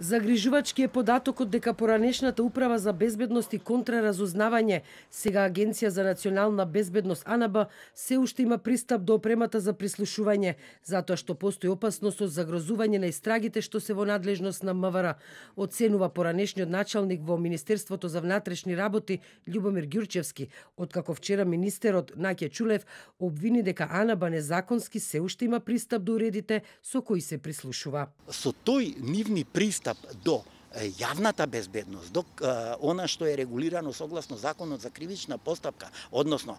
Загрижувачки е податокот дека поранешната управа за безбедност и контраразузнавање, сега Агенција за национална безбедност АНБ, се уште има пристап до опремата за прислушување, затоа што постои опасност од загрозување на истрагите што се во надлежност на МВР, оценува поранешниот началник во Министерството за внатрешни работи Љубомир Ѓурчевски, откако вчера министерот Наќе Чулев обвини дека АНБ незаконски се уште има пристап до уредите со кои се прислушува. Со тој нивни пристап до јавната безбедност, до она што е регулирано согласно законот за кривична постапка, односно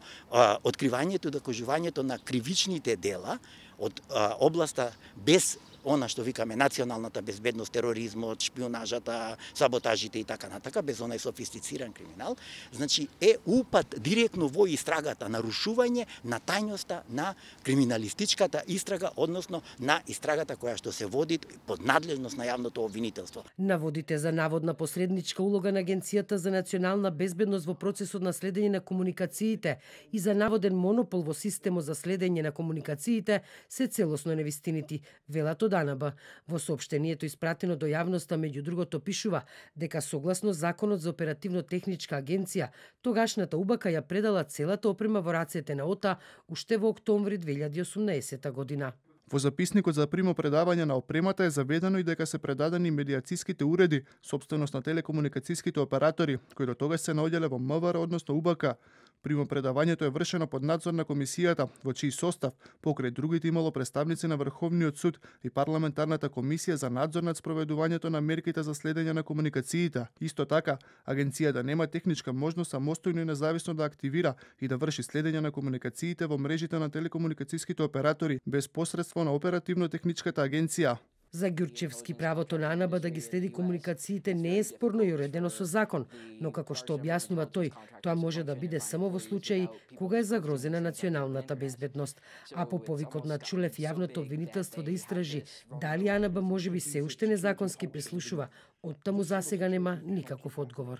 откривањето и докажувањето на кривичните дела од областа без она што викаме националната безбедност, тероризмот, шпионажата, саботажите и така натака, без онај софистициран криминал, значи е упат директно во истрагата, нарушување на тајноста на криминалистичката истрага, односно на истрагата која што се води под надлежност на јавното обвинителство. Наводите за наводна посредничка улога на Агенцијата за национална безбедност во процесот на следење на комуникациите и за наводен монопол во системот за следење на комуникациите се целосно невистинити, велат од АНБ. Во соопштението испратено до јавноста, меѓу другото, пишува дека согласно Законот за оперативно-техничка агенција, тогашната УБК ја предала целата опрема во рацете на ОТА уште во октомври 2018 година. Во записникот за примопредавање на опремата е заведено и дека се предадени медиациските уреди, собственост на телекомуникацијските оператори, кои до тогаш се наоѓале во МВР, односно УБК. Примопредавањето е вршено под надзор на комисијата, во чиј состав, покрај другите, имало представници на Врховниот суд и парламентарната комисија за надзор над спроведувањето на мерките за следење на комуникациите. Исто така, агенцијата нема техничка можност самостојно и независно да активира и да врши следење на комуникациите во мрежите на телекомуникацијските оператори без посредство на оперативно-техничката агенција. За Ѓурчевски, правото на АНБ да ги следи комуникациите не е спорно и уредено со закон, но како што објаснува тој, тоа може да биде само во случаи кога е загрозена националната безбедност. А по повикот на Чулев јавното обвинителство да истражи дали АНБ можеби се уште незаконски прислушува, оттаму засега нема никаков одговор.